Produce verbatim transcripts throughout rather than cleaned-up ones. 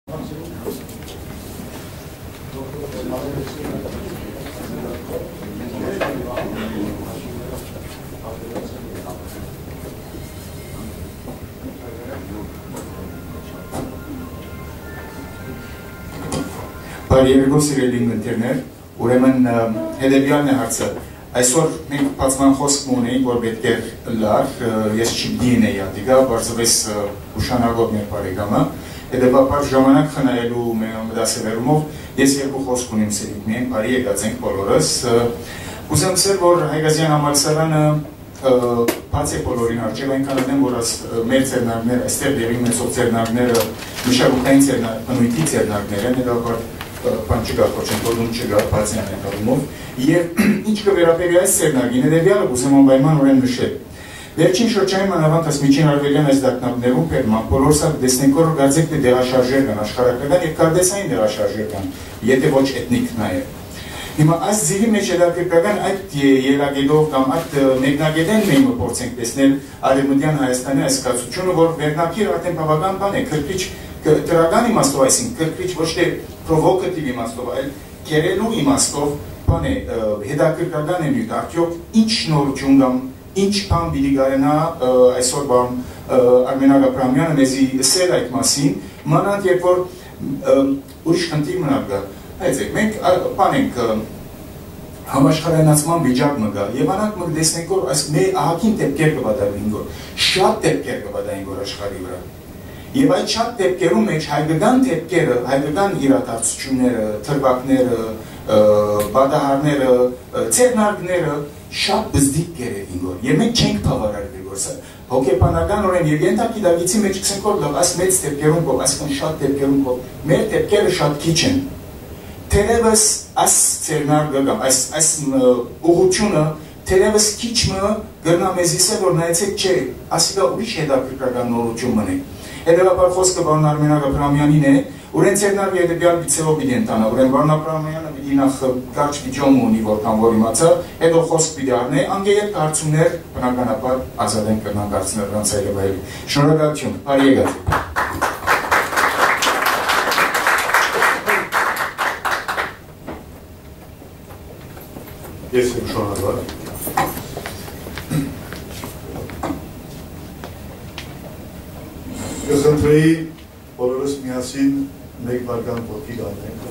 Բարի երեկո, սիրելի ընկերներ, ուրեմն, ը, հետեւեալն է հարցը։ Այսօր մենք բացման խօսք մը ունենք, որ պէտք էր ըլլար, ը, ես չպիտի ընեի ատիկա, պարզվեց, ը, ուշանալով մեր բարեկամը, հետեւաբար ժամանակ խնայելու մե-, մտասեւեռումով ես երկու խօսք ունիմ սիրիդ միայն, բարի եկած ենք բոլորս, ը, կ'ուզեմ ասել, որ Հայկազեան համալսարանը ը, բաց է բոլորին առջեւ, այնքան ատեն որ աս-, ը, մեր ձեռնարկները, այստեղ տեղի ունեցող ձեռնարկները մշակութային ձեռնա-, բնույթի ձեռնարկներ են, հետեւաբար, ը, բան չկա, խոչընդոտում չկա, բաց են այդ առումով։ Եւ ինչ կը վերաբերի այս ձեռնարկին, հետեւեալը կ'ուզեմ անպայմանորեն նշել։ Վերջին շրջանին մանաւանդ աս միջին արեւելեան այս տագնապներուն բերման, բոլորս ալ տեսնենք, որ կարծեք թէ տեղաշարժեր կան, աշխարհագրական եւ քարտէսային տեղաշարժեր կան, եթէ ոչ էթնիկ նաեւ։ Հիմա այս ձիւի մէջ հետաքրքրական այդ ե-, ելակետով կամ այդ, ը, մեկնակետէն մենք մը փորձենք տեսնել Արեւմտեան Հայաստանի այս կացությունը, որ վերնագիր արդեն բաւական բան է, քրքրիչ, ք-, դրական իմաստով, այսինքն քրքրիչ, ոչ թէ պրովոկատիվ իմաստով, այլ գերելու իմաստով բան է, ը, հետաքրքրական է նիւթ, արդեօք ինչ նորություն կամ ինչ բան պիտի կարենայ, ը, այսօր բան, ը, Արմենակ Աբրահամեանը մեզի ըսել այդ մասին, մանաւանդ երբ որ, ը, ուրիշ խնդիր մնալ կայ։ Հայցեք, մենք, ա, բան ենք, ը, համաշխարհայնացման վիճակ մը կայ, եւ անակ մը կը տեսնենք, որ այս մե-, ահագին դեպքեր կը պատահին, որ շատ դեպքեր կը պատահին, որ աշխարհի վրայ։ Եւ այդ շատ դեպքերու մէջ հայկական դեպքերը, հայկական իրադարձությունները, դրուագները, ը, պատահարները, ը, ձեռնարկները շատ բզդիկ կերեւին, որ, եւ մենք չենք բաւարարվի, որ սա հոգեբանականօրէն եւ ենթագիտակցի մէջ կ'ըսենք, որ լավ, այս մեծ դեպքերուն կով, այսքան շատ դեպքերուն կով, մեր դեպքերը շատ քիչ են։ Թերեւս այս ձեռնարկը կամ այս, այս, ը, ուղղությունը թերեւս քիչ մը կրնայ մեզի ասել, որ նայեցեք, չէ, ասիկա ուրիշ հետաքրքրական նորություն մըն է։ Հետեւաբար խօսքը պարոն Արմենակ Աբրահամեանին է, ուրեն ձեռնարկը հետեւեալ գիծերով պիտի ընթանայ, ուրեն պարոն Աբրահամեանը պիտի նախ կարճ վիդեո մը ունի, որքան որ իմացայ, հետո խօսք պիտի առնէ, անկէ ետք հարցումներ, բնականաբար, Ազատէն կրնանք հարցնել առանց այլեւայլի։ Շնորհակալութիւն, բարի եկած եք։ Ես եմ շնորհակալ։ Կը խնդրեի բոլորս միասին մէկ վարկան ոտքի կանգնենք։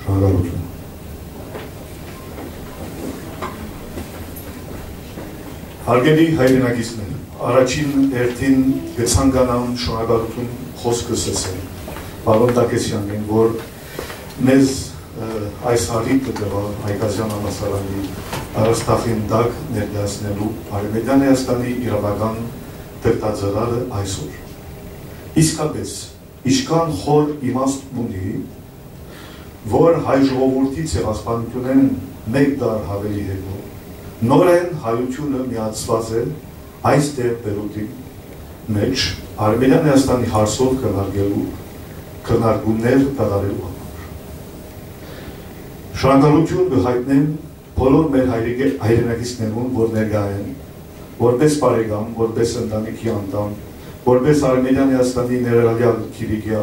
Շնորհակալութիւն։ Հարգելի հայրենակիցներ, առաջին հերթին կը ցանկանամ շնորհակալութիւն խօսքս ասել պարոն Տակեսեանին, որ մեզ, ը, այս առիթը տուաւ Հայկազեան համալսարանի դարասթախին տակ ներկայացնելու Արեւմտեան Հայաստանի իրաւական դրդածրարը այսօր։ Իսկապէս, ինչքան խոր իմաստ ունի, որ հայ ժողովուրդի ցեղասպանութենէն մէկ դար աւելի յետոյ, նորէն հայութիւնը միացուած է այս տեղ Պէյրութի մէջ Արեւելեան Հայաստանի հարցով քննարկելու քննարկումներ կատարելու համար։ Շնորհակալութիւն կը յայտնեմ բոլոր մեր հայրիկե-, հայրենակիցներուն, որ ներկայ են, որպես բարեկամ, որպես ընտանիքի անդամ, որպես Արմենիան Հայաստանի ներառյալ Կիլիկիա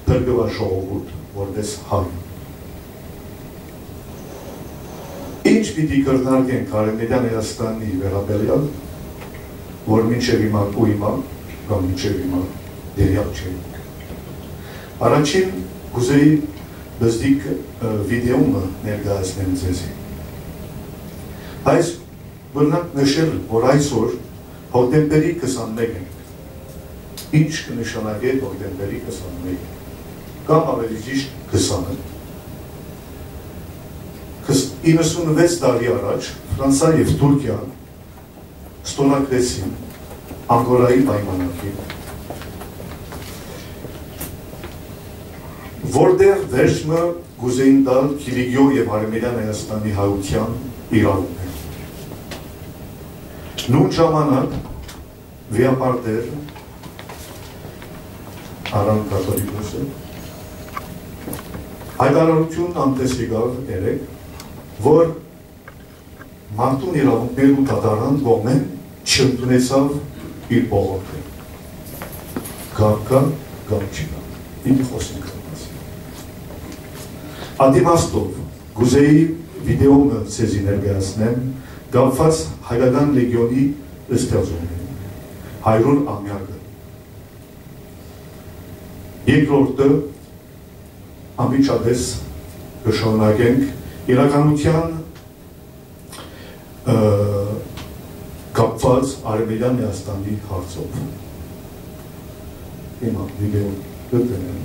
փրկուած ժողովուրդ, որպես հայ։ Ինչ պիտի քննարկենք Արմենիան Հայաստանի վերաբերյալ, որ մինչև հիմա ու հիմա, կամ մինչև հիմա դերյակ չէ։ Առաջին կուզեի բզդիկ, ը, վիդեոմը ներկայացնեմ ձեզի։ Այս բնակ նշել, որ այսօր հոկտեմբերի քսանմեկ ենք։ Ինչ կը նշանակէ հոկտեմբերի քսանմեկ, կամ ավելի ճիշտ քսանը։ Քս-, իննսունվեց տարի առաջ Ֆրանսա եւ Թուրքիա ստորագրեցին Անգորայի պայմանագիր, որտեղ վերջ մը կուզեին տալ Կիլիկիո եւ Արմենիան Հայաստանի հայության իրավունքը։ Նոյն ժամանակ վիապարտեր Արամ կաթողիկոսը հայտարարություն անտես եկաւ երեկ, որ մարդուն իրաւունքներու դատարան կողմէն չընդունեցաւ իր բողոքը։ Կապ կայ կամ չի կայ։ Պիտի խօսենք այդ մասին։ Ատիմաստով կուզեի վիդէօ մը ձեզի ներկայացնեմ կապուած Հայկական Լեգիոնի ստեղծումին, հարիւր ամեակը։ Երկրորդը, անմիջապէս կը շարունակենք իրականութեան, ը, կապուած Արեւելեան Լեհաստանի հարցով։ Հիմա վիդէօ կը դնեմ։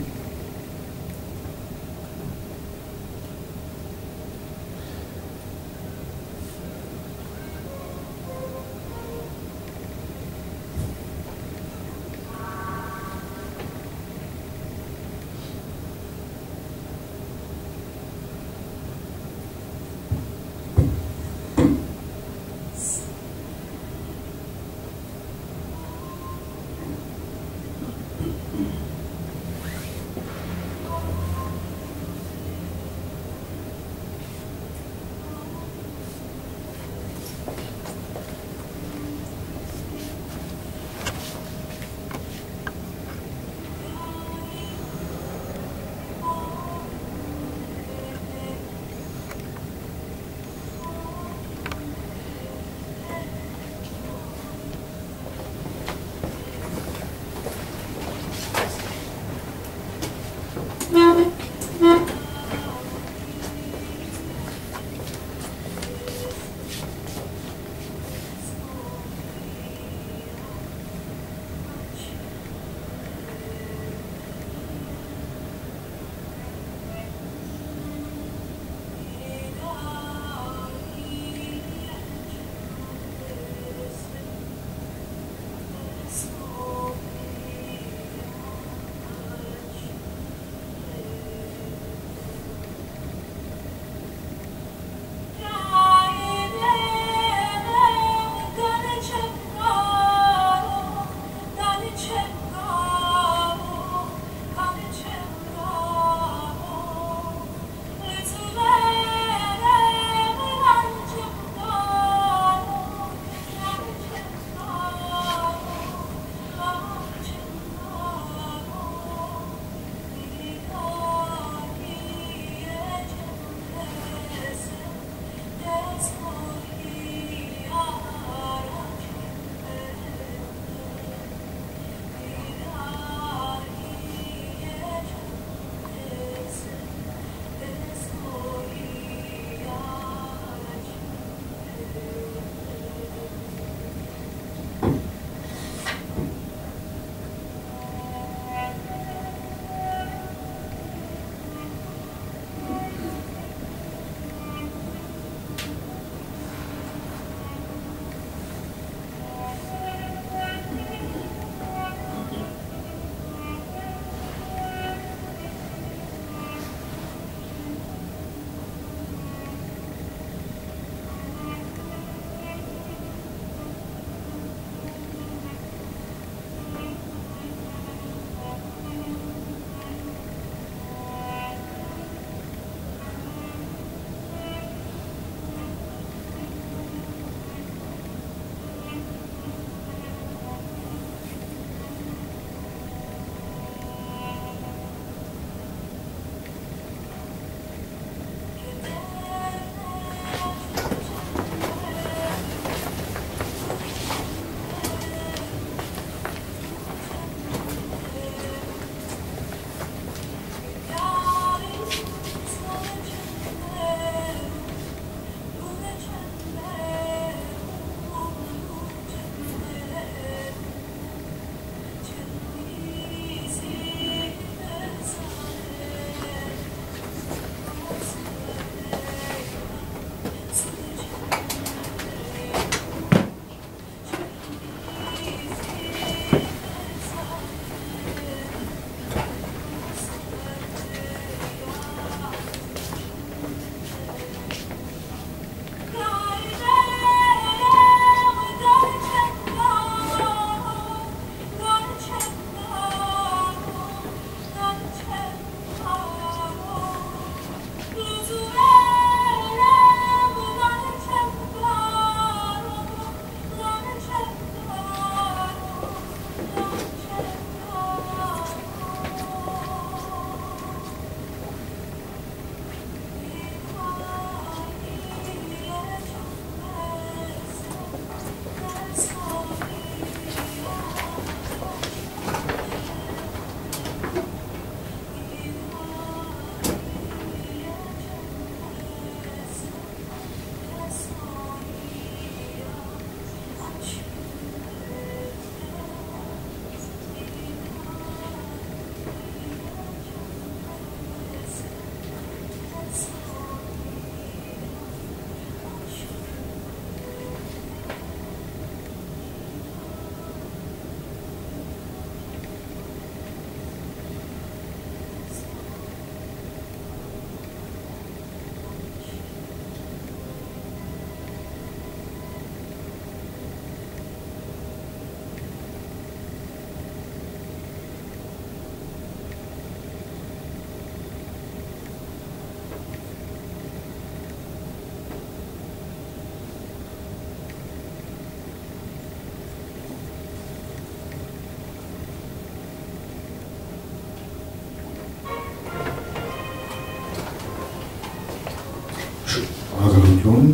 Ակնկալութիւն,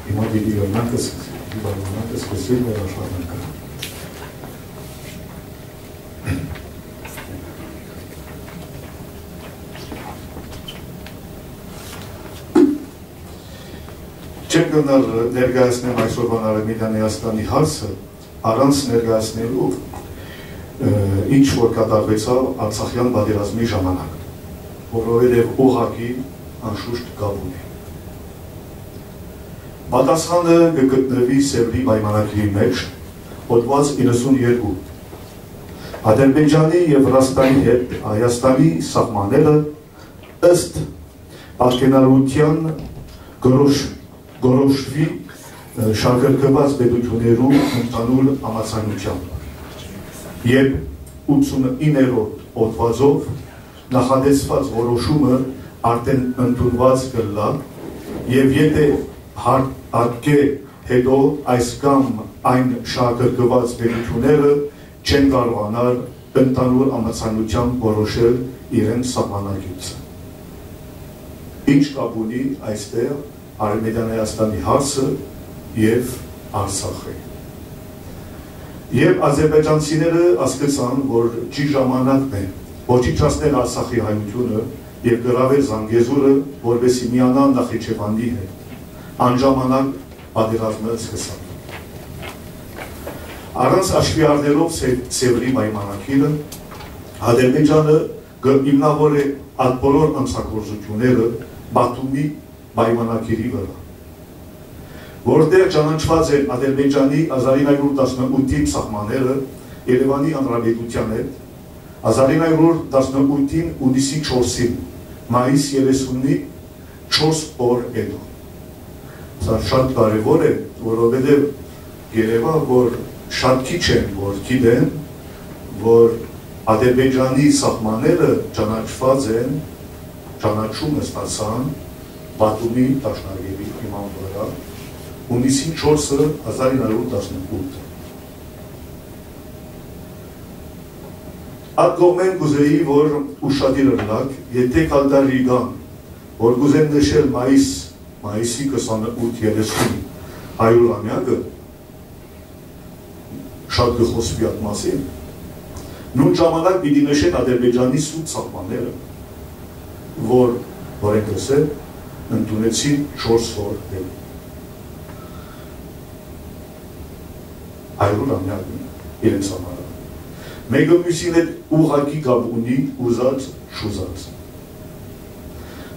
հիմա պիտի ըլլանք ս-, պիտի պայմանանք ս-, սկսել մեր աշխատանքը։ Չեմ կրնար ներկայացնեմ այսօրվան Արմենիան Հայաստանի հարցը, առանց ներկայացնելու, ը, ինչ որ կատարուեցաւ Արցախեան պատերազմի ժամանակ, որովհետեւ ուղղակի անշուշտ կապ ունի։ Պատասխանը կը գտնուի Սեւրի պայմանագիրի մէջ, հոդուած իննսուններկու։ Ադրբեջանի եւ Վրաստանի հետ Հայաստանի սահմանները ըստ պատկենարարութեան կորոշ-, կորոշուի, ը, շահագրգռուած պետութիւններու ընդհանուր համաձայնությամբ եւ ութսունիններորդ հոդվածով նախատեսուած որոշումը արդէն ընդունուած կ'ըլլայ եւ եթէ հարկ-, ատկէ հետո այս կամ այն շահագրգռուած պետութիւնները չեն կարողանար ընդհանուր համաձայնությամբ որոշել իրենց սահմանագիծը։ Ինչ կապ ունի այստեղ Արմենիան Հայաստանի հարցը եւ Արցախը։ Եւ ադրբեջանցիները ասկցան, որ ճիշտ ժամանակն է ոչնչացնել Արցախի հայութիւնը եւ գրաւել Զանգեզուրը, որպեսզի միանան Նախիջեվանի հետ։ Անժամանակ պատերազմը սկսան։ Առանց հաշուի առնելով Սեւ-, Սեւրի պայմանագիրը, Ադրբեջանը կը հիմնաւորէ այդ բոլոր անցագործութիւնները Բաթումի պայմանագիրի վրայ, որտեղ ճանաչուած են Ադրբեջանի հազար ինը հարիւր տասնութին սահմանները Երեւանի Հանրապետութեան հետ, հազար ինը հարիւր տասնութին յունիսի չորսին, մայիս երեսունի չորս օր յետոյ։ Սա շատ կարեւոր է, որովհետեւ երեւա, որ շատ քիչ են, որ գիտեն, որ Ադրբեջանի սահմանները ճանաչուած են, ճանաչում ստացան Բաթումի դաշնագիրի հիման վրայ, յունիսին չորսը, հազար ինը հարիւր տասնութ։ Այդ կողմէն կ'ուզէի, որ ուշադիր ըլլաք, եթէ Կալդարի կան, որ կ'ուզեն նշել մայիս, մայիսի քսանութ երեսուն հարիւր ամեակը, շատ կը խօսուի այդ մասին, նոյն ժամանակ պիտի նշեն Ադրբեջանի սուտ սահմանները, որ, որ են կսել, ընդունեցին չորս օր յետոյ։ Հարիւր ամեակ իրենց համար։ Մէկը միւսին հետ ուղղակի կապ ունի ուզած, չուզած։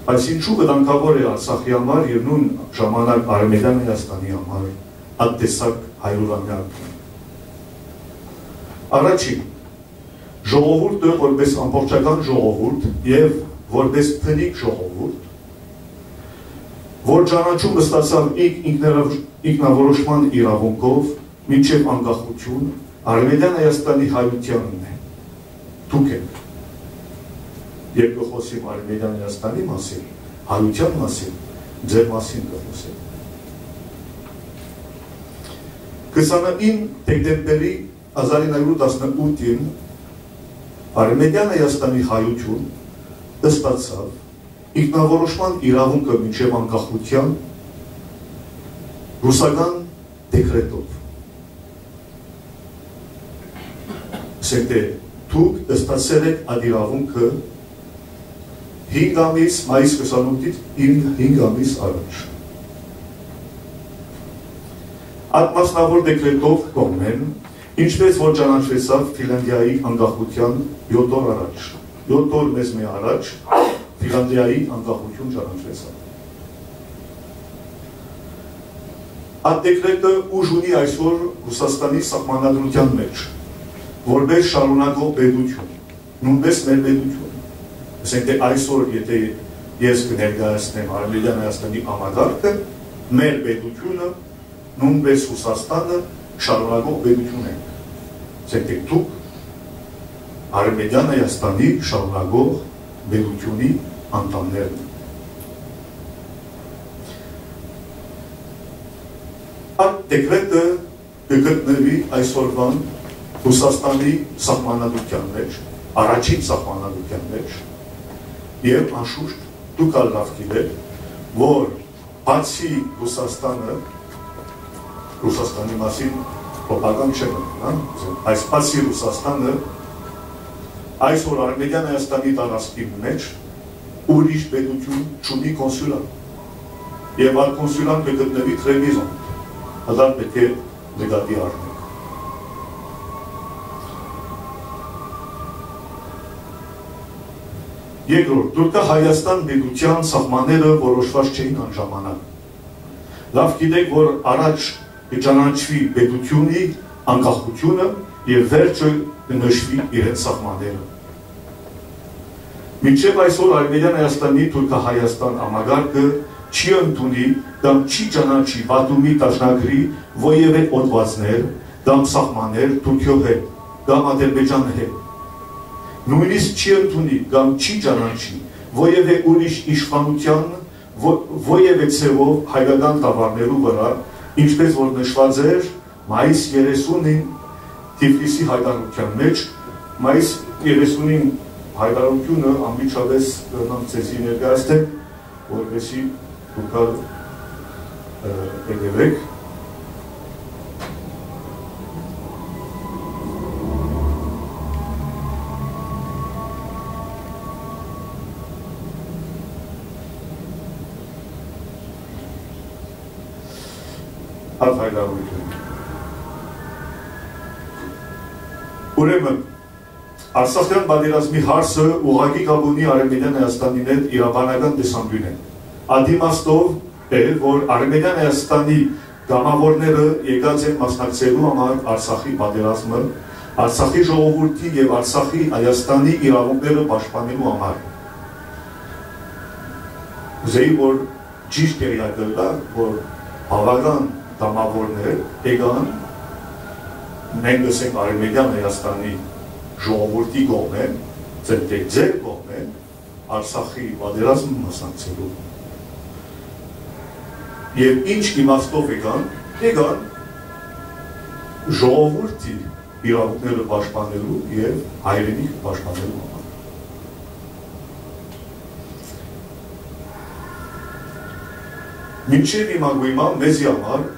Բայց ինչու վտանգաւոր է Արցախի համար եւ նոյն ժամանակ Արմենիան Հայաստանի համար այդ տեսակ հարիւր ամեակ։ Առաջին, ժողովուրդը որպես ամբողջական ժողովուրդ եւ որպես բնիկ ժողովուրդ, որ ճանաչում ստացաւ ինք ինքնարավ-, ինքնավորոշման իրաւունքով մինչեւ անկախություն, Արմենիան Հայաստանի հայութեանն է։ Դուք եք։ Երբ կը խօսիմ Արմենիան Հայաստանի մասին, հայութեան մասին, ձեր մասին կը խօսեմ։ Քսանինը դեկտեմբերի հազար ինը հարիւր տասնութին Արմենիան Հայաստանի հայութիւն ստացաւ ինքնավորոշման իրաւունքը մինչեւ անկախության ռուսական դեկրետով։ Ասենք թէ դուք ստացեր եք այդ իրաւունքը հինգ ամիս, մայիս քսանութից հինգ, հինգ ամիս առաջ։ Այդ մասնաւոր դեկրետով կողմէն, ինչպես որ ճանաչուեցաւ Ֆինլանդիայի անկախության յոթ օր առաջ, յոթ օր մեզ մէ առաջ Ֆինլանդիայի անկախություն ճանաչուեցաւ։ Այդ դեկրետը ուժ ունի այսօր Ռուսաստանի սահմանադրության մէջ, որպես շարունակող պետություն, նոյնպես մեր պետություն։ Ասենք թէ այսօր, եթէ ես կը ներկայացնեմ Արմենիան Հայաստանի համակարգը, մեր պետությունը, նոյնպես Ռուսաստանը շարունակող պետություն ենք։ Ասենք թէ դուք Արմենիան Հայաստանի շարունակող պետությունի անդամներն եք։ Այդ դեկրետը կը գտնուի այսօրուան Ռուսաստանի սահմանադրության մէջ, առաջին սահմանադրության մէջ, եւ անշուշտ դուք ալ լաւ գիտէք, որ բացի Ռուսաստանը, Ռուսաստանի մասին պրոպագանդ չեմ ըլլալ, հա, այս բացի Ռուսաստանը, այսօր Արմենիան Հայաստանի տարածքի մեջ ուրիշ պետութիւն չունի կոնսուլան։ Եւ այդ կոնսուլան կը գտնուի Տրեմիզոն, հդար պէտք է նկատի առնենք։ Երկրորդ, Թուրքա-Հայաստան պետութեան սահմանները որոշուած չէին անժամանակ։ Լաւ գիտենք, որ առաջ կը ճանաչուի պետութիւնի անկախութիւնը եւ վերջը կը նշուի իրեն սահմանները։ Մինչեւ այսօր Արմենիան Հայաստանի Թուրքա-Հայաստան համակարգը չի ընդունի կամ չի ճանաչի Պատումի դաշնագրի որեւէ հոդվածներ կամ սահմաններ Թուրքիոյ հետ կամ Ադրբեջանի հետ։ Նոյնիսկ չի ընդունի կամ չի ճանաչի որեւէ ուրիշ իշխանութեան ո-, որեւէ ձեւով հայկական գաւառներու վրայ, ինչպէս որ նշուած էր մայիս երեսունին Թիֆլիսի յայտարարութեան մեջ, մայիս երեսունին յայտարարութիւնը անմիջապէս կրնամ ձեզի ներկայացնել, որպեսզի դուք ալ, ը, հետեւէք։ Յայտարարութիւն։ Ուրեմն, Արցախեան պատերազմի հարցը ուղղակի կապ ունի Արմենիան Հայաստանին հետ իրավաբանական տեսանկիւնէն։ Այդ իմաստով է, որ Արմենիան Հայաստանի կամավորները եկած են մասնակցելու համար Արցախի պատերազմը, Արցախի ժողովուրդի եւ Արցախի Հայաստանի իրաւունքները պաշտպանելու համար։ Ուզեի, որ ճիշդ տեղեակ ըլլայ, որ բաւական կամավորներ եկան, մենք ըսենք Արմենիան Հայաստանի ժողովուրդի կողմէ, ձեր, դե, ձեր կողմէ, Արցախի պատերազմը մասնակցելու։ Եւ ինչ իմաստով եկան, եկան ժողովուրդի իրաւունքները պաշտպանելու եւ հայրենիքը պաշտպանելու համար։ Մինչեւ հիմա գոյմա մեզի համար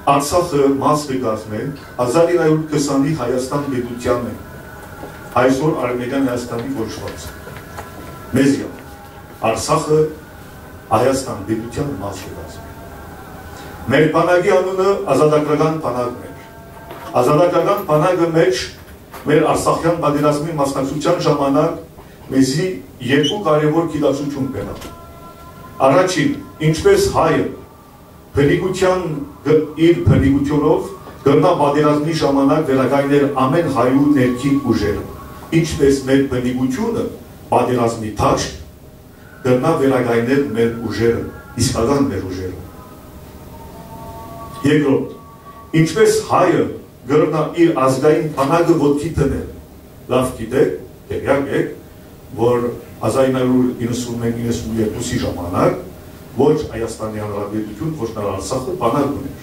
Արցախը մաս կը կազմէ հազար ինը հարիւր քսանի Հայաստան պետութեան է, այսօր Արմենիան Հայաստանի կոչուած։ Մեզի համար Արցախը Հայաստան պետութեան մաս կը կազմէ։ Մեր բանակի անունը ազատագրական բանակն էր։ Ազատագրական բանակը մէջ մեր Արցախեան պատերազմի մասնակցութեան ժամանակ մեզի երկու կարեւոր գիտակցութիւն բերաւ։ Առաջին, ինչպէս հայը բնիկութեան գ-, իր բնիկութիւնով կրնայ պատերազմի ժամանակ վերակայնել ամէն հայու ներքին ուժերը, ինչպէս մեր բնիկութիւնը պատերազմի դաշտ կրնայ վերակայնել մեր ուժերը, իսկական մեր ուժերը։ Երկրորդ, ինչպէս հայը կրնայ իր ազգային բանակը ոտքի դնել, լաւ գիտէք, տեղեակ եք, որ հազար ինը հարիւր իննսուն մէկ իննսուն երկուսի ժամանակ ոչ Հայաստանի Հանրապետութիւն, ոչ Նոր Արցախը բանակ ունէր։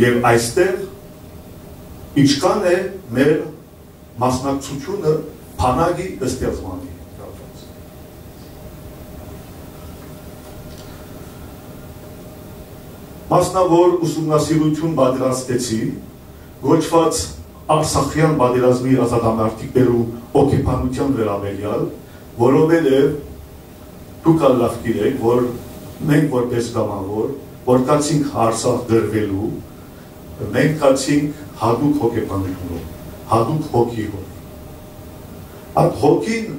Եւ այստեղ ինչքան է մեր մասնակցությունը բանակի ստեղծմանը կապված։ Մասնաւոր ուսումնասիրութիւն պատրաստեցի, կոչուած Արցախեան պատերազմի ազատամարտիկներու հոգեբանութեան վերաբերեալ, որովհետեւ դուք ալ լաւ գիտէք, որ մենք որպես կամավոր, որ գացինք Արցախ կռուելու, մենք գացինք յատուկ հոգեբանութիւնով, յատուկ հոգիով։ Այդ հոգին,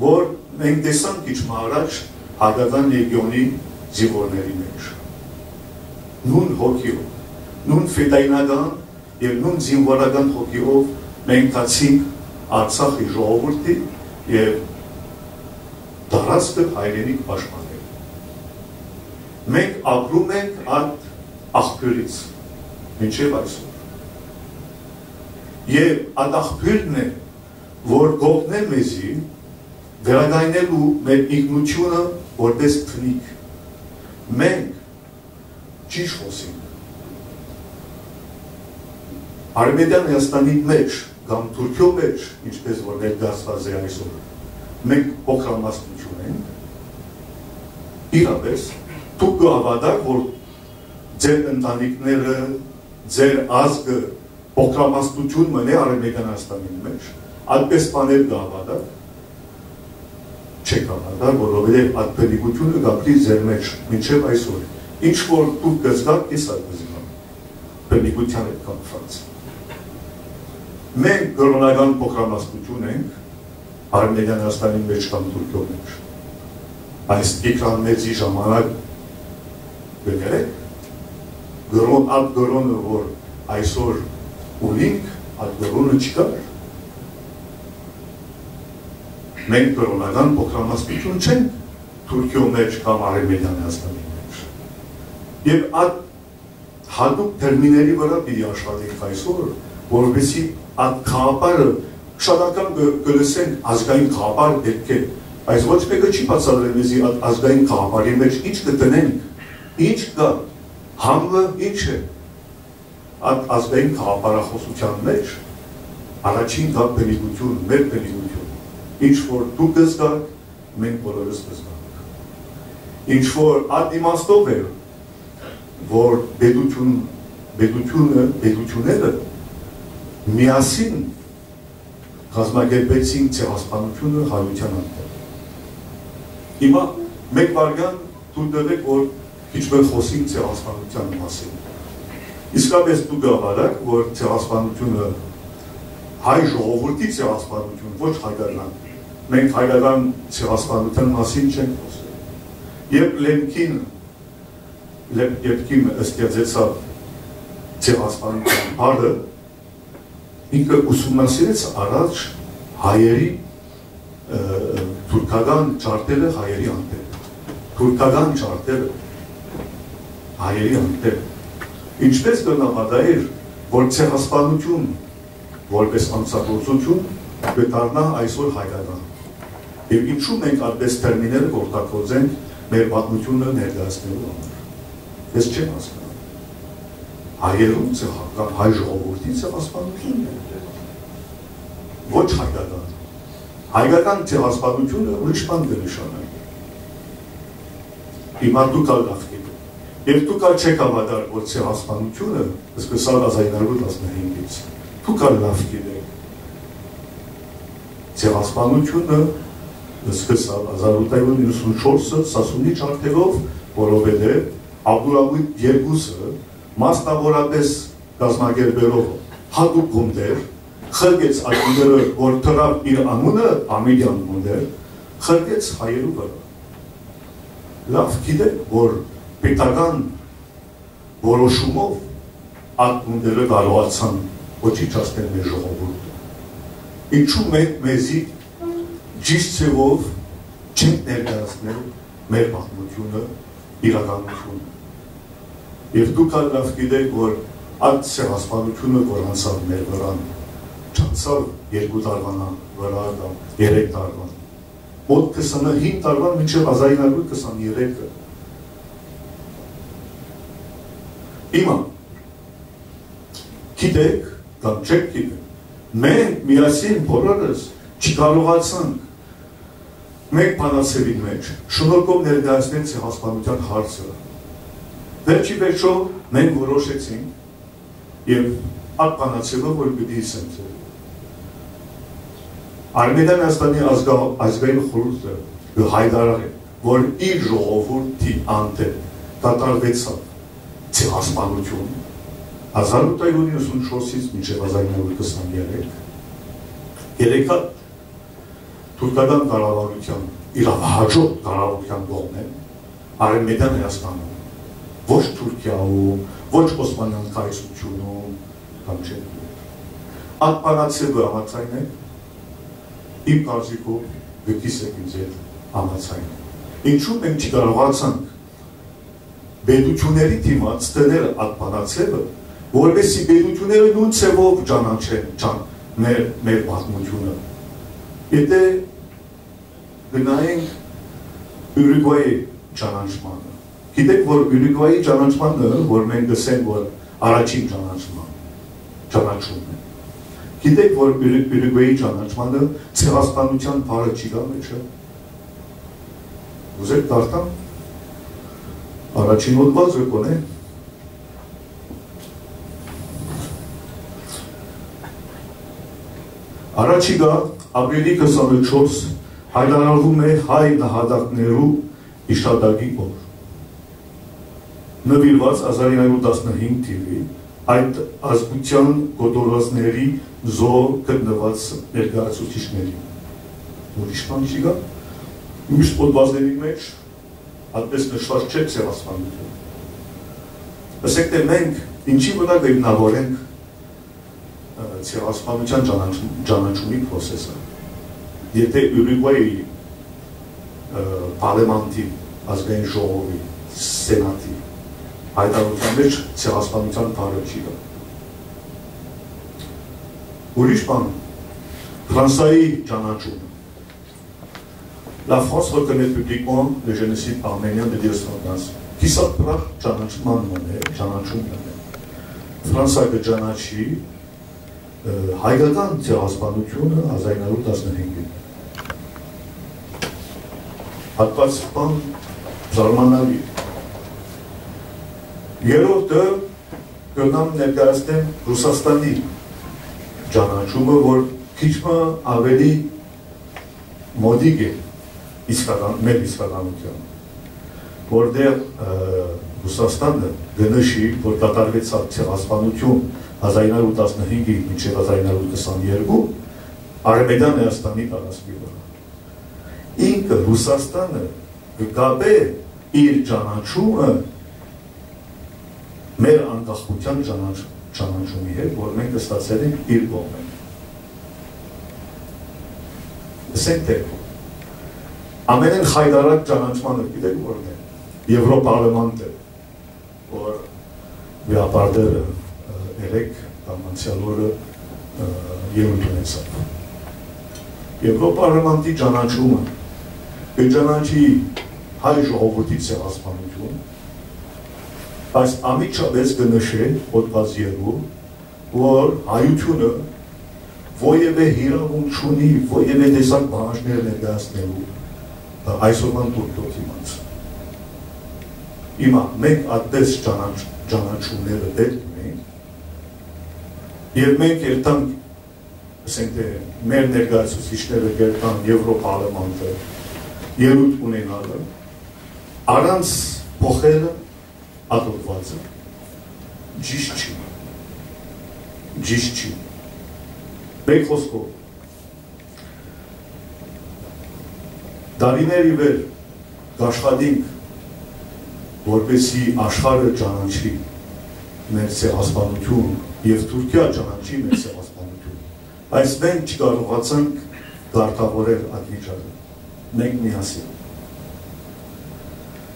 որ մենք տեսանք քիչ մը առաջ Հայկական լեգիոնի զինուորների մեջ։ Նոյն հոգիով, նոյն ֆետայինական եւ նոյն զինուորական հոգիով մենք գացինք Արցախի ժողովուրդի եւ տարածքը հայրենիք պաշտպանել։ Մենք ապրում ենք այդ աղբիւրից մինչեւ այսօր։ Եւ այդ աղբիւրն է, որ կօգնէ մեզի վերակայնելու մեր ինքնութիւնը որպես բնիկ։ Մենք ճիշդ խօսենք։ Արմենիան Հայաստանի մեջ կամ Թուրքիոյ մեջ, ինչպես որ ներկայացված է այսօր, մենք փոքրամասնություն ենք, իրապէս, դուք կը հաւատաք, որ ձեր ընտանիքները, ձեր ազգը փոքրամասնություն մնայ Արեւմտյան Հայաստանին մէջ, այդպէս բաներ կը հաւատաք, չէք հաւատար, որովհետեւ այդ բնիկությունը կ'ապրի ձեր մէջ մինչեւ այսօր։ Ինչ որ դուք կ'զգաք, ես ալ կ'զգամ բնիկութեան հետ կապուած։ Մենք կրօնական փոքրամասնություն ենք Արեւմտյան Հայաստանի մէջ կամ Թուրքիոյ մէջ։ Այս Տիգրան Մեծի ժամանակ կը կրեք, կրօն, այդ կրօնը, որ այսօր ունինք, այդ կրօնը չկար։ Մենք կրօնական փոքրամասնություն չենք Թուրքիոյ մէջ կամ Արեւմտյան Հայաստանի մէջ։ Եւ այդ հատուկ թերմիների վրայ պիտի աշխատենք այսօր, որպեսզի այդ գաղափարը, շատ անգամ կը, կը լսենք, ազգային գաղափար պէտք է, բայց ոչ մէկը չի բացատրել մեզի այդ ազգային գաղափարի մէջ ինչ կը տնենք, ինչ կայ, համը ինչ է։ Այդ ազգային գաղափարախօսութեան մէջ առաջին կայ բնիկություն, մեր բնիկություն, ինչ որ դուք կ'զգաք, մենք բոլորս կ'զգանք։ Ինչ որ այդ իմաստով է, որ պետություն, պետությունը, պետությունները միասին կազմակերպեցին ցեղասպանությունը հայութեան անդամ։ Հիմա մեկ վայրկեան դուք տվեք, որ քիչ մը խօսենք ցեղասպանության մասին։ Իսկապէս դուք կ'հաւատաք, որ ցեղասպանությունը, հայ ժողովուրդի ցեղասպանություն, ոչ հայկական, մենք հայկական ցեղասպանության մասին չենք խօսել։ Երբ Լեմքին, Լեմ-, Լեմքին ստեղծեցաւ ցեղասպանության բառը, ինքը ուսումնասիրեց առաջ հայերի, ը, թուրքական ջարդերը հայերի անտեր, թուրքական ջարդերը հայերի անտեր։ Ինչպէս կրնայ պատահել, որ ցեղասպանություն որպէս անցագործություն կը դառնայ այսօր հայկական։ Եւ ինչու մենք այդպէս թերմիները կ'օգտագործենք մեր պատմությունը ներկայացնելու համար։ Ես չեմ հասկանում։ Հայերուն ցեղական, հայ ժողովուրդի ցեղասպանությունն է։ Ոչ հայկական։ Հայկական ցեղասպանությունը ուրիշ բան կը նշանակի։ Հիմա դուք ալ լաւ գիտէք։ Եւ դուք ալ չէք հաւատար, որ ցեղասպանությունը սկսաւ հազար ինը հարիւր տասնհինգից։ Դուք ալ լաւ գիտէք։ Ցեղասպանությունը սկսաւ հազար ութ հարիւր իննսունչորսը Սասունի ջարդերով, որովհետեւ Աբդուլհամիտ երկուսը մասնաւորապէս կազմակերպելով հատուկ գունդեր, խրկեց այդ գունդերը, որ դրաւ իր անունը, Ամիլեան գունդեր, խրկեց հայերու վրայ։ Լաւ գիտէք, որ պետական որոշումով այդ գունդերը կարողացան ոչնչացնել մեր ժողովուրդը։ Ինչու մենք մեզի ճիշդ ձեւով չենք ներկայացնել մեր պատմությունը, իրականությունը։ Եւ դուք ալ լաւ գիտէք, որ այդ ցեղասպանությունը, որ անցաւ մեր վրան, չանցաւ երկու տարուան վրայ կամ երեք տարուան, մոտ քսանհինգ տարուան մինչեւ հազար ինը հարիւր քսաներեքը։ Հիմա, գիտեք կամ չեք գիտեր, մենք միասին բոլորս չկարողացանք մեկ բանաձեւին մէջ շնորհքով ներկայացնել ցեղասպանության հարցը։ Վերջի վերջո մենք որոշեցինք, եւ այդ բանաձեւը, որ պիտի ասեմ ձեզ, Արմենիան Հայաստանի ազգա-, ազգային խորհուրդը կը հայտարարէ, որ իր ժողովուրդի անդէն կատարուեցաւ ցեղասպանություն հազար ութ հարիւր իննսունչորսից մինչեւ հազար ինը հարիւր քսաներեք, երեքա թուրքական կառավարութեան, իրավահաջորդ կառավարութեան կողմէ, Արեւմտեան Հայաստանում, ոչ Թուրքիայում, ոչ Օսմանեան կայսրությունում կամ չեմ գիտեր։ Այդ բանաձեւը համաձայն է, իմ կարծիքով, գտիս եք ինձ հետ համաձայն։ Ինչու մենք չկարողացանք պետությունների դիմաց դնել այդ բանաձեւը, որպեսզի պետությունները նոյն ձևով ճանաչեն, ճան-, մեր, մեր պատմությունը։ Եթե գնայինք Ուրուգվայի ճանաչմանը, գիտեք, որ Ուրուգվայի ճանաչմանը, որ մենք գսենք, որ առաջին ճանաչման, ճանաչումն է, գիտեք, որ Ուրու-, Ուրուգվայի ճանաչմանը ցեղասպանության բառը չի կա մեջը։ Ուզեք կարդամ, Առաջին հոդվածը կոնե։ Առաջիկայ ապրիլի քսանուչերկրորդ հայտարարվում է հայ նահատակներու յիշատակի օր, նուիրուած հազար ինը հարիւր տասնհինգ թիւի, այդ ազգութեան կոտորածների զոհ գտնուած ներկայացուցիչներին։ Ուրիշ բան չի գա։ Միշտ հոդվածների մեջ այդպես նշուած չէ ցեղասպանութիւն։ Ասենք թէ մենք ինչի վրա կհիմնաւորենք, ը, ցեղասպանութեան ճանաչ-, ճանաչումի process-ը։ Եթէ Ուրուգուայի, ը, պարլեմանտի, ազգային ժողովի, սենատի հայտարարութեան մեջ ցեղասպանութեան բառը չի գա։ Ուրիշ բան, Ֆրանսայի ճանաչումը։ La France reconnaît publiquement le génocide arménien de mille neuf cent quinze. Կիսատ պրակ ճանաչման մөн է, ճանաչում մөн է։ Ֆրանսա կը ճանաչի, ը, հայկական ցեղասպանութիւնը հազար ինը հարիւր տասնհինգ։ Հատկացման զարմանալի։ Երրորդը կրնամ ներկայացնեմ Ռուսաստանի ճանաչումը, որ քիչ մը ավելի մոտիկ է իսկական, մեր իսկականութեան, որտեղ, ը, Ռուսաստանը կը նշի, որ կատարուեցաւ ցեղասպանութիւն հազար ինը հարիւր տասնհինգ մինչեւ հազար ինը հարիւր քսաներկու Արմենիան Հայաստանի տարածքի վրայ։ Ինքը Ռուսաստանը կը կապէ իր ճանաչումը մեր անկախութեան ճանաչ-, ճանաչումի հետ, որ մենք ստացել ենք իր կողմէն։ Ասենք թէ, ամենէն խայտառակ ճանաչմանը գիտեք ո՞րն է։ Եվրոպարլեմանտը, որ վեհապարտերը, ը, երեկ կամ անցեալ օրը, ը, ելույթ ունեցաւ։ Եվրոպարլեմանտի ճանաչումը կը ճանաչի հայ ժողովուրդի ցեղասպանութիւն, բայց անմիջապէս կը նշէ հոդված երկու, որ հայութիւնը որեւէ իրաւունք չունի որեւէ տեսակ պահանջներ ներկայացնելու, ը, այսօրվան Թուրքիոյ դիմաց։ Հիմա մենք այդպես ճանաչ-, ճանաչումները պետք ունենք, եւ մենք երթանք, ասենք թէ, մեր ներկայացուցիչները կերթան Եվրոպարլեմանտը ելույթ ունենալը, առանց փոխելը ատորվածը ճիշտ չի, ճիշտ չի։ Մեկ խօսքով, տարիներ ի վեր կաշխատենք, որպեսզի աշխարհը ճանաչի մեր ցեղասպանութիւն եւ Թուրքիա ճանաչի մեր ցեղասպանութիւն, բայց մենք չկարողացանք կարգաւորել այդ վիճակը, մենք միասին։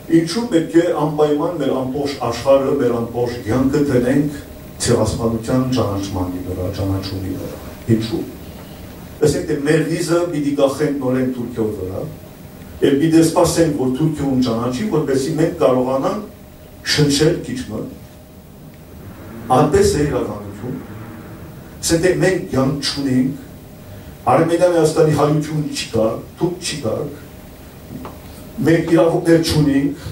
Ինչու՞ պէտք է անպայման մեր ամբողջ աշխարհը, մեր ամբողջ կեանքը դնենք ցեղասպանութեան ճանաչման վրայ, ճանաչումի վրայ։ Ինչու՞։ Ասենք թէ մեր վիզը պիտի կախենք նորէն Թուրքիոյ վրայ, եւ պիտի սպասենք, որ Թուրքիոյ ճանաչի, որպեսզի մենք կարողանանք շնչել քիչ մը։ Այդպես է իրականություն։ Ասենք թէ մենք կեանք չունենք, Արմենիան Հայաստանի հայութիւն չկա, դուք չկաք, մենք իրաւունքներ չունենք,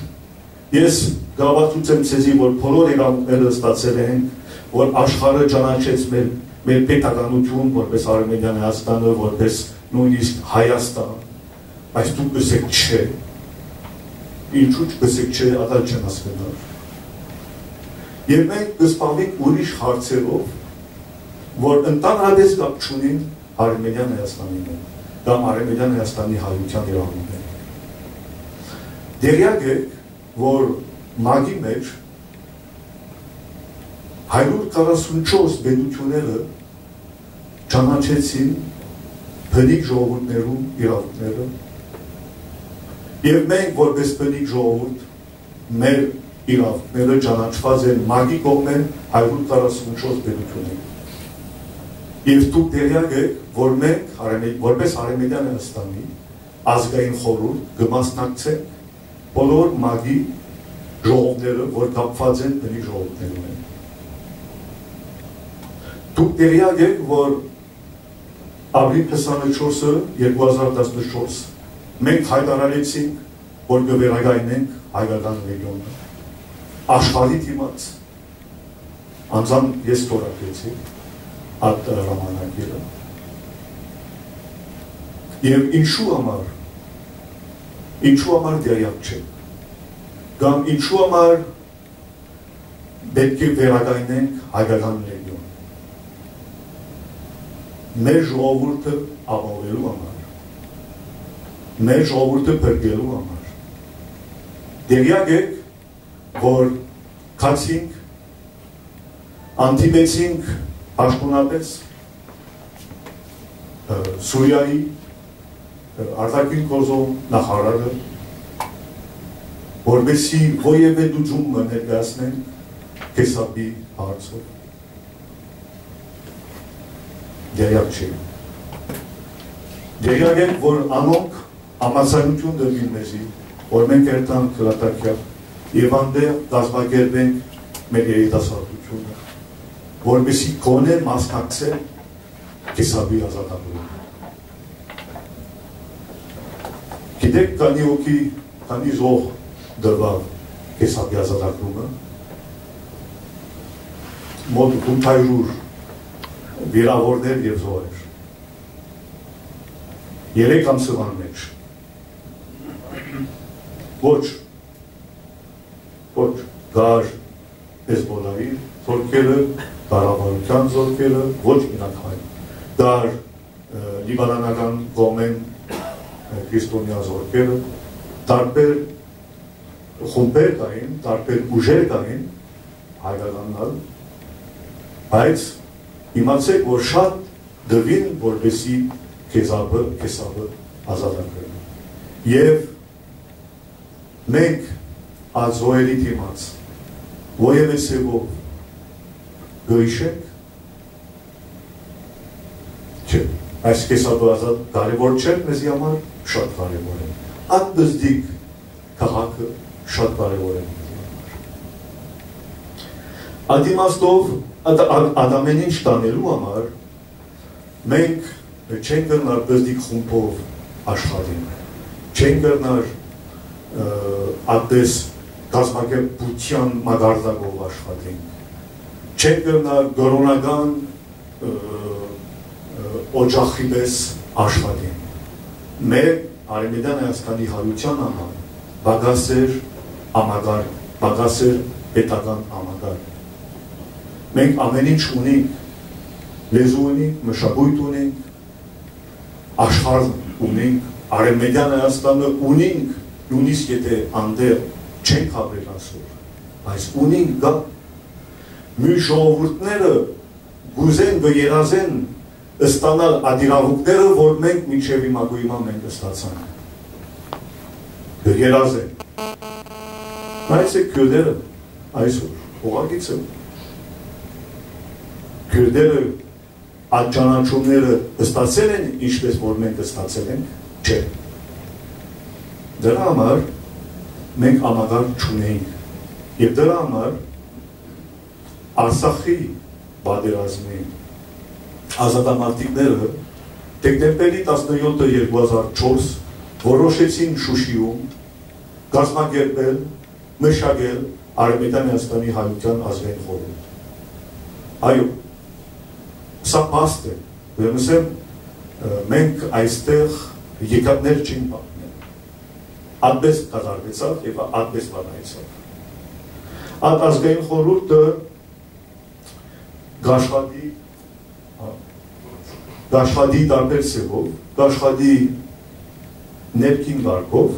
ես կհաւաստիացնեմ ձեզի, որ բոլոր իրաւունքները ստացել ենք, որ աշխարհը ճանաչեց մեր, մեր պետականութիւն, որպես Արմենիան Հայաստանը, որպես նոյնիսկ Հայաստան, բայց դուք կ'ըսէք չէ, ինչու՞ կ'ըսէք չէ, ատա չեմ հասկնար։ Եւ մենք կ'զբաղվենք ուրիշ հարցերով, որ ընդհանրապես կապ չունին Արմենիան Հայաստանի հետ կամ Արմենիան Հայաստանի հայութեան իրաւունքներով։ Տեղեակ եք, որ մագի մեջ հարիւր քառասունչորս պետութիւնները ճանաչեցին բնիկ ժողովուրդներու իրաւունքները, եւ մենք, որպես բնիկ ժողովուրդ, մեր իրաւունքները ճանաչուած են մագի կողմէն հարիւր քառասունչորս պետութիւններու։ Եւ դուք տեղեակ եք, որ մենք, Արմե-, որպես Արմենիան Հայաստանի ազգային խորհուրդ, կը մասնակցենք բոլոր մագի ժողովները, որ կապուած են բնիկ ժողովուրդներուն հետ։ Դուք տեղեակ եք, որ ապրիլ քսանուչը, երկու հազար տասնուչը, մենք հայտարարեցինք, որ կը վերականգնենք հայկական լեգիոնը։ Աշխարհի դիմաց, անձամբ ես թորակեցի այդ հրամանագիրը։ Եւ ինչու համար, ինչու համար դերյակ չէ, կամ ինչու համար պէտք է վերակայնենք հայկական լեգիոն։ Մեր ժողովուրդը ապահովելու համար, մեր ժողովուրդը փրկելու համար։ Դերյակ եք, որ գացինք, հանդիպեցինք պաշտոնապես, ը, Սուրիայի, ը, արտաքին գործոյ նախարարը, որպեսզի որեւէ լուծում մը ներկայացնենք Քեսապի հարցով։ Դերյակ չէ։ Դերյակ եք, որ անոնք համաձայնութիւն տուին մեզի, որ մենք երթանք Լատակիա եւ անտեղ կազմակերպենք մեր երիտասարդութիւնը, որպեսզի գոնե մասնակցեն Քեսապի ազատագրումը։ Գիտեք, քանի հոգի, քանի զոհ տուաւ Քեսապի ազատագրումը, մոտ ութ հարիւր վիրաւորներ եւ զոհեր։ Երեք ամսուան մէջ։ Ոչ, ոչ, կար Հեզբոլայի զորքերը, կառավարութեան զորքերը, ոչ միայն հայ, կար, ը, լիբանանական կողմէն, ը, քրիստոնեայ զորքերը, տարբեր խումբեր կային, տարբեր ուժեր կային, հայկականն ալ, բայց իմացէք, որ շատ տուին, որպեսզի Քեսապը, Քեսապը ազատագրեն։ Եւ մենք այդ զոհերի դիմաց որեւէ ձեւով կը յիշենք, չէ, այս Քեսապը ազատ կարեւոր չէ մեզի համար, շատ կարեւոր է։ Այդ պզտիկ քաղաքը շատ կարեւոր է մեզի համար։ Այդ իմաստով, այդ, այդ, այդ ամեն ինչ տանելու համար մենք չենք կրնար պզտիկ խումբով աշխատենք, չենք կրնար, ը, այդպես կազմակերպութեան մակարդակով աշխատենք, չենք կրնար կրօնական, ը, ը, օջախի պես աշխատենք։ Մեր Արեւմտյան Հայաստանի հայութեան համար պակաս էր համակարգ, պակաս էր պետական համակարգ։ Մենք ամեն ինչ ունենք, լեզու ունենք, մշակոյթ ունենք, աշխարհ ունենք, Արեւմտյան Հայաստանը ունենք, նոյնիսկ եթէ անտեղ չենք ապրեր այսօր, բայց ունենք գա։ Մյուս ժողովուրդները կ'ուզեն, կը երազեն ստանալ այդ իրաւունքները, որ մենք մինչեւ հիմա, գոյ հիմա մենք ստացանք։ Կը երազեն։ Նայեցէք քիւրտերը այսօր, ուղղակիցը։ Քիւրտերը այդ ճանաչումները ստացել են, ինչպես որ մենք ստացել ենք, չէ։ Դրա համար մենք համակարգ չունենք։ Եւ դրա համար Արցախի պատերազմի ազատամարտիկները դեկտեմբերի տասնեթը երկու հազար չորս որոշեցին Շուշիում կազմակերպել, մշակել Արեւմտյան Հայաստանի հայութեան ազգային խորհուրդ։ Այո, սա փաստ է, ուրեմն ասեմ, ը, մենք այստեղ եկատներ չենք պատմել։ Ատպես կատարվեցաւ եւ ատպես վարայեցաւ։ Այդ ազգային խորհուրդը կաշխատի, կաշխատի տարբեր ձևով, կաշխատի ներքին կարգով,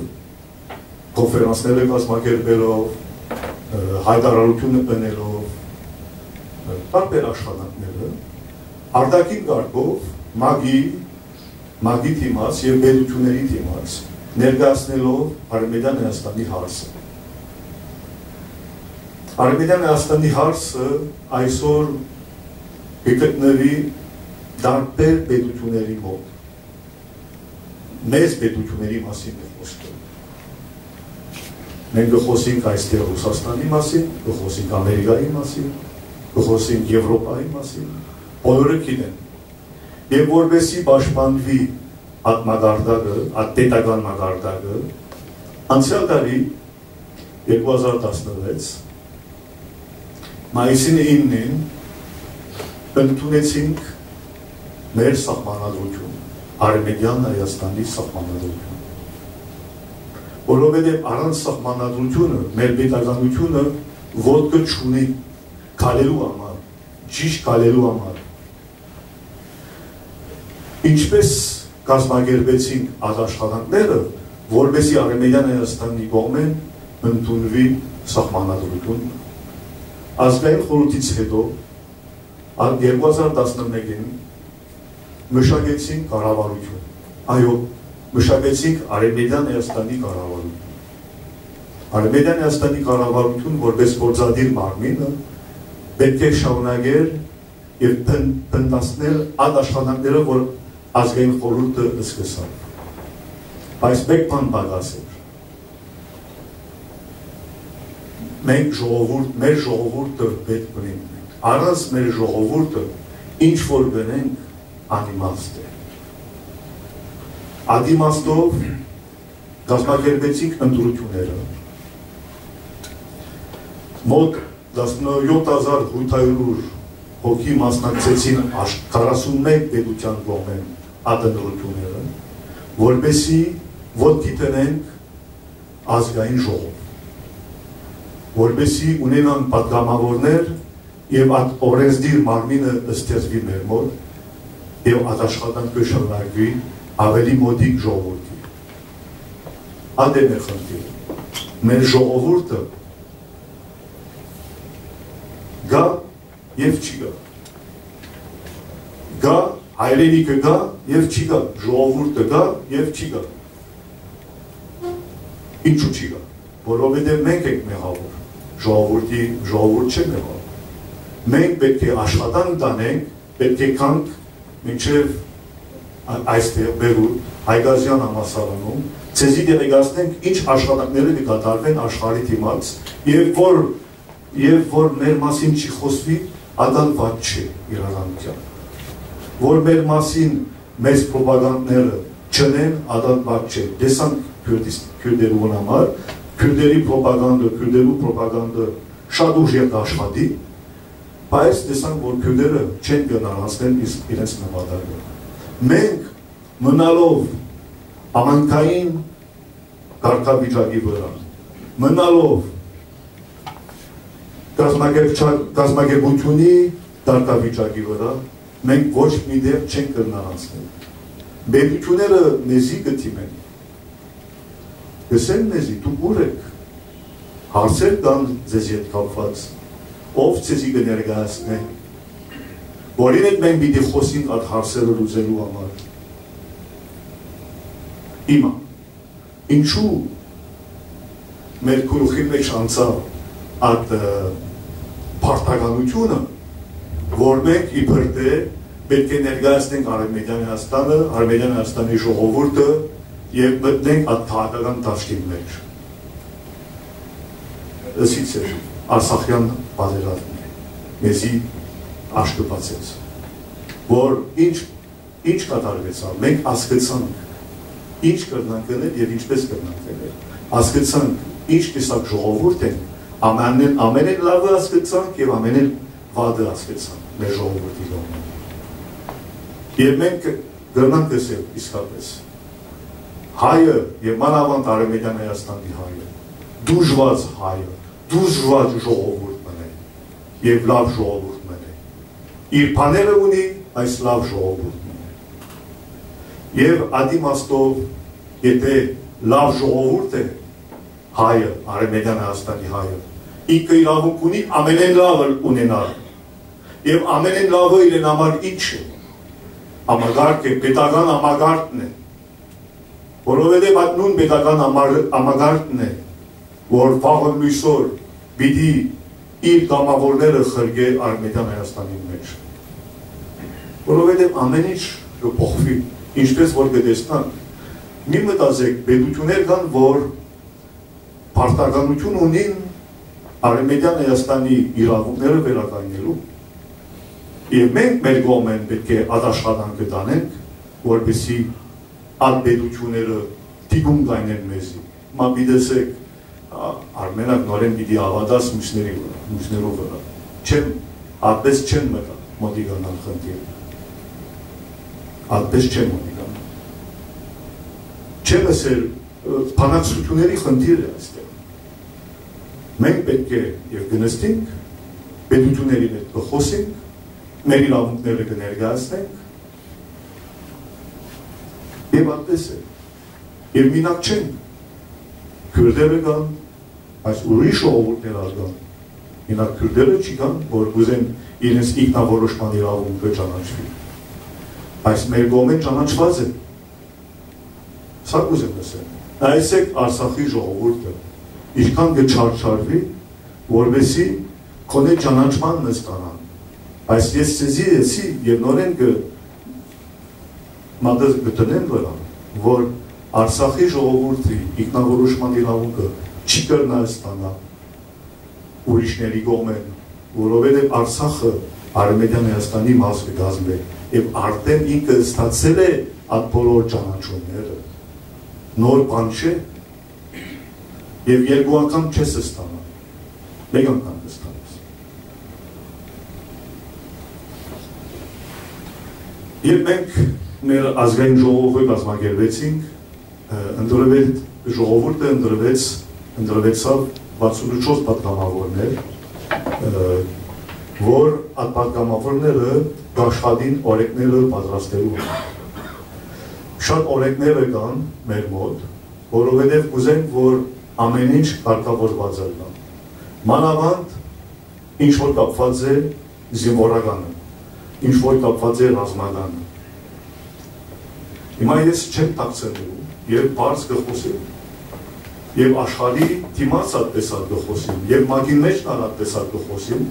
կոնֆերանսները կազմակերպելով, ը, հայտարարությունը բնելով, ը, տարբեր աշխատանքները, արտաքին կարգով, մագի, մագի դիմաց եւ պետությունների դիմաց, ներկայացնելով Արեւմտյան Հայաստանի հարցը։ Արեւմտյան Հայաստանի հարցը այսօր կը գտնուի տարբեր պետությունների մոտ։ Մեծ պետությունների մասին է խոսքը։ Մենք կը խոսենք այստեղ Ռուսաստանի մասին, կը խոսենք Ամերիկայի մասին, կը խոսենք Եվրոպայի մասին, բոլորը գիտեն։ Եւ որպեսզի պաշտպանուի այդ մակարդակը, այդ պետական մակարդակը, անցեալ տարի, երկու հազար տասնվեց, Մայիսին իննին ընդունեցինք մեր սահմանադրութիւն, Արմենիան Հայաստանի սահմանադրութիւն, որովհետեւ առանց սահմանադրութիւնը մեր պետականութիւնը ոտքը չունի քալելու համար, ճիշտ քալելու համար։ Ինչպէս կազմակերպեցինք այդ աշխատանքները, որպեսզի Արմենիան Հայաստանի կողմէն ընդունուի սահմանադրութիւն։ Ազգային խորհուրդից հետո, ա-, երկու հազար տասնմէկին մշակեցինք կառավարութիւն։ Այո, մշակեցինք Արմենիան Հայաստանի կառավարութիւն։ Արմենիան Հայաստանի կառավարութիւն որպէս գործադիր մարմինը պէտք է շարունակեր եւ փն-, փնտացնել այդ աշխատանքները, որ ազգային խորհուրդը սկսաւ։ Բայց մէկ բան պակաս էր։ Մենք ժողովուրդ, մեր ժողովուրդը պէտք ունենք մենք։ Առանց մեր ժողովուրդը ինչ որ գնենք, անիմաստ է։ Այդ իմաստով կազմակերպեցինք ընտրութիւնները։ Մոտ տասնեթ հազար յոթ հարիւր հոգի մասնակցեցին աշ-, քառասունմէկ պետութեան կողմէն այդ ընտրութիւնները, որպեսզի ոտքի դնենք ազգային ժողով, որպեսզի ունենան պատգամավորներ եւ այդ օրենսդիր մարմինը ստեղծուի մեր մոտ եւ այդ աշխատանքը շարունակուի ավելի մօտիկ ժողովուրդի։ Այդ է մեր խնդիրը։ Մեր ժողովուրդը կայ եւ չի գայ։ Կայ, հայրենիքը կայ եւ չի գայ, ժողովուրդը կայ եւ չի գայ։ Ինչու՞ չի գայ։ Որովհետեւ մենք ենք մեղաւոր։ Ժողովուրդի, ժողովուրդ չէ մեղաւոր։ Մենք պէտք է աշխատանք տանենք, պէտք է գանք մինչեւ ա-, այստեղ, Բերուտ, Հայկազեան համալսարանում, ձեզի տեղեկացնենք ինչ աշխատանքները կը կատարուեն աշխարհի դիմաց եւ որ, եւ որ մեր մասին չի խօսուի, ատալ վատ չէ իրականութեան։ Որ մեր մասին մեծ պրոպագանդները չընեն, ատալ վատ չէ։ Տեսանք քյուրդիս-, քյուրդերուն համար, քյուրդերի պրոպագանդը, քյուրդերու պրոպագանդը շատ ուժեղ կաշխատի, բայց տեսանք, որ քյուրդերը չեն կրնար հասնել իսկ իրենց նպատակը։ Մենք մնալով համայնքային կարգավիճակի վրայ, մնալով կազմակերպչա-, կազմակերպութիւնի կարգավիճակի վրայ, մենք ոչ մի տեղ չենք կրնար անցնել։ Պետութիւնները մեզի կը դիմեն, կ'ըսեն մեզի. «Դուք ո՞ւր էք»։ Հարցեր կան ձեզի հետ կապուած, ո՞վ ձեզի կը ներկայացնէ, որին հետ մենք պիտի խօսենք այդ հարցերը լուծելու համար։ Հիմա, ինչու՞ մեր գլուխին մէջ անցաւ այդ, ը, պարտականութիւնը, որ մենք իբր թէ պէտք է ներկայացնենք Արմենիան Հայաստանը, Արմենիան Հայաստանի ժողովուրդը եւ մտնենք այդ քաղաքական դաշտին մէջ։ Ըսի ձեր, Արցախեան պատերազմն է, մեզի աշկը բացեց, որ ինչ, ինչ կատարուեցաւ, մենք հասկցանք, ինչ կրնանք գնել եւ ինչպես կրնանք գնել։ Հասկցանք, ինչ տեսակ ժողովուրդ ենք, ամենէն, ամենէն լավը հասկցանք եւ ամենէն վատը հասկցանք մեր ժողովուրդի կողմէ։ Եւ մենք կրնանք ըսել իսկապես, հայը եւ մանաւանդ Արմենիան Հայաստանի հայը, դուժուած հայը, դուժուած ժողովուրդ մնայ եւ լաւ ժողովուրդ մնայ։ Իր բաները ունի, այս լաւ ժողովուրդ մնայ։ Եւ այդ իմաստով, եթե լաւ ժողովուրդ է հայը, Արմենիան Հայաստանի հայը, ինքը իրավունք ունի ամենէն լաւը ունենալ։ Եւ ամենէն լաւը իրեն համար ինչ է։ Համակարգ է, պետական համակարգն է, որովհետեւ այդ նոյն պետական համար-, համակարգն է, որ վաղը լոյսօր պիտի իր կամավորները խրկէ Արմենիան Հայաստանի մէջ, որովհետեւ ամեն ինչ կը փոխուի, ինչպես որ կը տեսնանք։ Մի մտածեք, պետութիւններ կան, որ պարտականութիւն ունին Արմենիան Հայաստանի իրաւունքները վերականգնելու, եւ մենք մեր կողմէն պէտք է այդ աշխատանքը տանենք, որպեսզի այդ պետութիւնները թիկունք կայնեն մեզի։ Մա պիտի ըսեք, «Ա, Արմենակ, նորէն պիտի հաւատաս մյուսների վրայ, մյուսներու վրայ»։ չեմ, այդպես չեմ մտա-, մոտիկանալ խնդիրը։ Այդպես չեմ մոտիկանալ։ Չեմ ըսել, ը, բանակցութիւնների խնդիր է այստեղ։ Մենք պէտք է եւ կը նստենք, պետութիւնների հետ կը խօսենք, մեր իրաւունքները կը ներկայացնենք, եւ այդպես է։ Եւ մինակ չեն, քուրդերը կան, այս ուրիշ ժողովուրդներ ալ կան։ Մինակ քուրդերը չի կան, որ կուզեն իրենց ինքնավորոշման իրաւունքը ճանաչուի։ Այս մեր կողմէն ճանաչուած է։ Սա կուզեմ լսել։ Նայեցեք Արցախի ժողովուրդը, ինչքան կը չարչարուի, որպեսզի քոնէ ճանաչման նստանան։ Բայց ես ձեզի ըսի եւ նորէն կը մատը կը դնեմ վրան, որ Արցախի ժողովուրդի ինքնավորոշման իրաւունքը չի կրնար ստանալ ուրիշների կողմէն, որովհետեւ Արցախը Արեւմտյան Հայաստանի մաս կը կազմէ եւ արդեն ինքը ստացել է այդ բոլոր ճանաչումները։ Նոր բան չէ, եւ երկու անգամ չես ստանալ, մէկ անգամ կստանաս։ Երբ մենք մեր ազգային ժողովը կազմակերպեցինք, ը, ընտրվել, ժողովուրդը ընտրվեց, ընտրվեցաւ վաթսուն ու չորս պատգամավորներ, ը, որ այդ պատգամավորները կաշխատին օրենքները պատրաստելու համար։ Շատ օրենքները կան մեր մոտ, որովհետեւ կուզենք, որ ամեն ինչ կարգավորված ըլլայ։ Մանաւանդ, ինչ որ կապուած է զինուորականը, ինչ որ կապուած է ռազմականը։ Հիմա ես չեմ թաքցնելու, երբ բարձ կը խօսեմ, եւ աշխարհի դիմաց այդպես ալ կը խօսեմ, եւ ՄԱԿ-ին մէջ ալ այդպես ալ կը խօսեմ,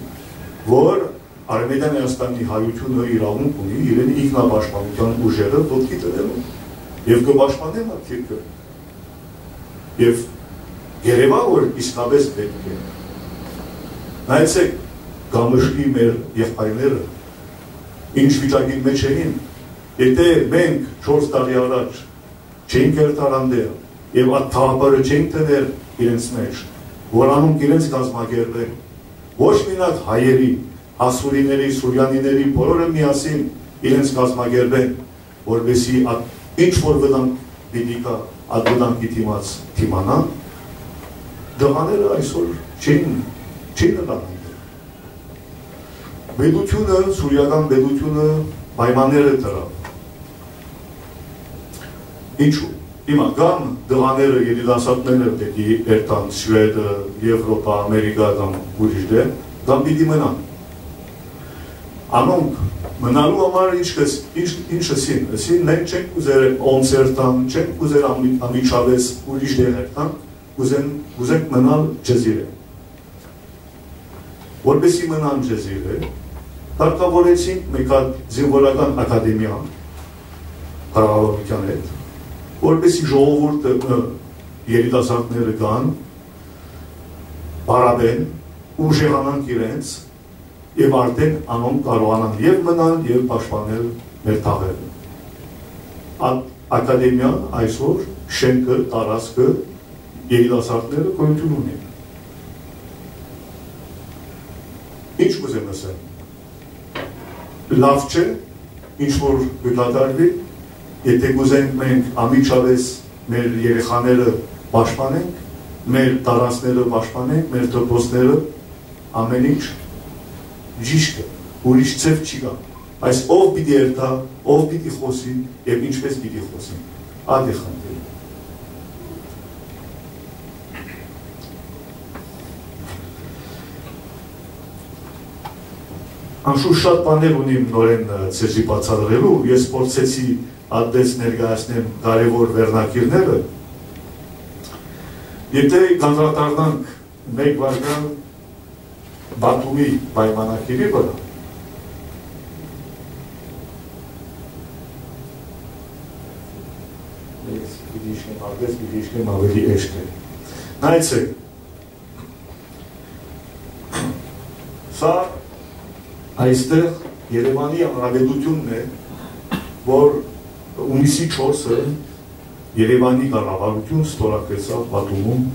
որ Արեւմտյան Հայաստանի հայութիւնը իրաւունք ունի իրեն ինքնապաշտպանութեան ուժերը ոտքի դնելու, եւ կը պաշտպանեմ այդ երկրը։ Եւ երեւա, որ իսկապես պէտք է։ Նայեցեք, Կամշլի մեր եղբայրները ինչ վիճակին մէջ էին, եթե մենք չորս տարի առաջ չէինք երթար անդէն եւ այդ գաղափարը չէինք դներ իրենց մէջ, որ անոնք իրենց կազմակերպեն, ոչ մինակ հայերի, ասուրիների, սուրյանիների, բոլորը միասին իրենց կազմակերպեն, որպեսզի այդ ինչ որ վտանգ պիտի գայ, այդ վտանգի դիմաց դիմանան, տղաները այսօր չեն, չեն ըլլան այնտեղ։ Պետութիւնը, սուրիական պետութիւնը պայմանները դրաւ։ Ինչու՞։ Հիմա կամ տղաները, երիտասարդները պիտի երթան Շուեդը, Եվրոպա, Ամերիկա կամ ուրիշ դեր, կամ պիտի մնան։ Անոնք մնալու համար ինչ կս-, ինչ, ինչ ըսին, ըսին, մենք չենք ուզեր ոնց երթան, չենք ուզեր անմի-, անմիջապէս ուրիշ դեր երթան, կուզեն, կուզենք մնալ Ջեզիրէ։ Որպեսզի մնան Ջեզիրէ, կարգավորեցինք մէկ հատ զինուորական ակադեմիա կառավարութեան հետ, որպեսզի ժողովուրդը, ը, երիտասարդները գան, պարապեն, ուժեղանանք իրենց, եւ արդեն անոնք կարողանան եւ մնալ, եւ պաշտպանել մեր թաղերը։ Այդ ակադեմիան այսօր շենքը, տարածքը երիտասարդները գոյութիւն ունին։ Ինչ կուզեմ ասել։ Լաւ չէ, ինչ որ կը կատարուի, եթե կուզենք մենք անմիջապէս մեր երեխաները պաշտպանենք, մեր տարածքները պաշտպանենք, մեր դպրոցները, ամեն ինչ ճիշդ է, ուրիշ ձեւ չի կա։ Այս ով պիտի երթայ, ով պիտի խօսի եւ ինչպես պիտի խօսի, ա դե խնդիրը։ Անշուշտ շատ բաներ ունիմ նորէն, ը, ձեզի բացատրելու, ես փորձեցի ատտես ներկայացնեմ կարեւոր վերնագիրները։ Եթե կանդրադառնանք մէկ վարքան Բաթումի պայմանագիրի վրայ, ես պիտի իջնեմ, ատտես պիտի իջնեմ ավելի էշտը։ Նայեցեք, սա այստեղ Երեւանի հանրապետությունն է, որ յունիսի չորսը Երեւանի կառավարություն ստորագրեցաւ Բաթումում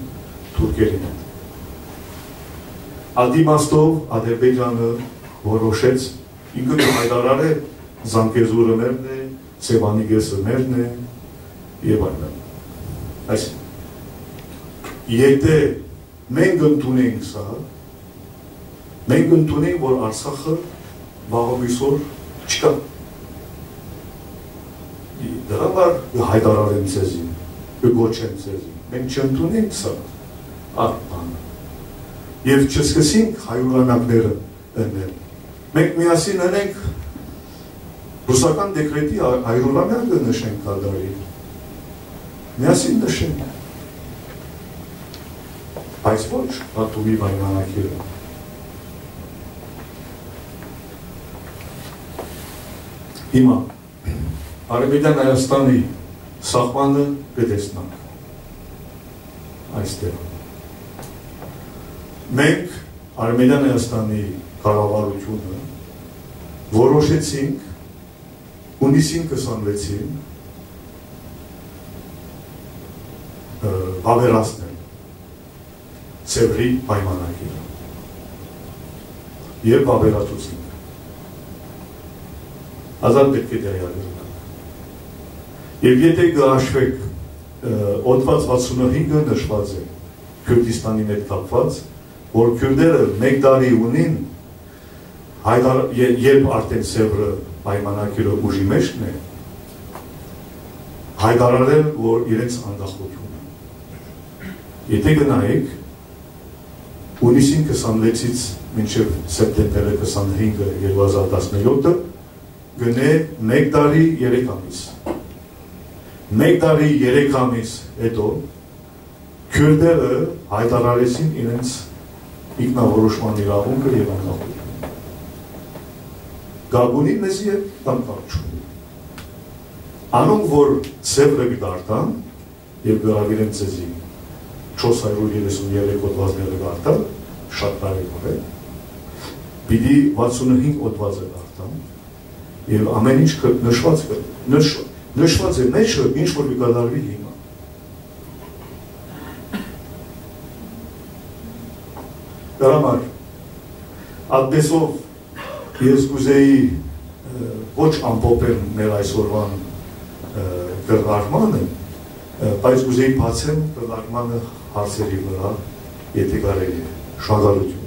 թուրքերին հետ։ Ատի մաստով Ադրբեջանը որոշեց, ինքը կը հայտարարէ Զանգեզուրը մերն է, Սեւանի կէսը մերն է, եւ այլն։ Այսինքն, եթե մենք ընդունենք սա, մենք ընդունենք, որ Արցախը վաղը միսօր չկայ։ Դրա համար կը հայտարարեմ ձեզի, կը կոչեմ ձեզի։ Մենք չընդունենք սա, այդ բանը։ Եւ չսկսենք հայուհայեանները ընել։ Մենք միասին ընենք ռուսական դեկրետի ա-, հայրուհայեան կը նշենք կատարի։ Միասին նշենք։ Բայց ոչ Բաթումի պայմանագիրը։ Հիմա Արեւելյան Հայաստանի սահմանը կը տեսնանք այստեղ։ Մենք Արեւելյան Հայաստանի կառավարութիւնը որոշեցինք հունիսին քսանվեցին, ը, վաւերացնել Սեւրի պայմանագիրը եւ վաւերացուցինք։ Ազատ պետք է տեղյակ ըլլաք։ Եւ եթե կը հաշուեք, ը, օդուած վաթսունը հինգը նշուած է Քուրդիստանի հետ կապուած, որ քուրդերը մէկ տարի ունին, հայտար-, ե-, երբ արդեն Սեւրը պայմանագիրը ուժի մէջն է, հայտարարել, որ իրենց անկախությունը։ Եթե գնայիք, հունիսին քսանվեցից մինչեւ սեպտեմբերի քսանհինգը երկու հազար տասնյոթը, գնե մէկ տարի երեք ամիս։ Մէկ տարի երեք ամիս հետո քուրդերը հայտարարեցին իրենց ինքնավորոշման իրավունքը եւ անկախությունը։ Կապ ունի մեզի հետ կամ կապ չունի։ Անոնք, որ Սեւրը կը դարտան, եւ կը հրաւիրեմ ձեզի չորս հարիւր երեսուն երեք օդուածները կարտալ, շատ կարեւոր է, պիտի վաթսունհինգ օդուածը կարտան, եւ ամեն ինչ կը-, նշուած կը-, նշ-, նշուած է մեջը, ինչ որ կը կատարուի հիմա։ Դրա համար, այդպեսով ես կուզեի, ը, ոչ ամփոփել մեր այսօրվան, ը, քննարկմանը, ը, բայց կուզեի բացեմ քննարկմանը հարցերի վրայ, եթե կարելի է։ Շնորհակալություն։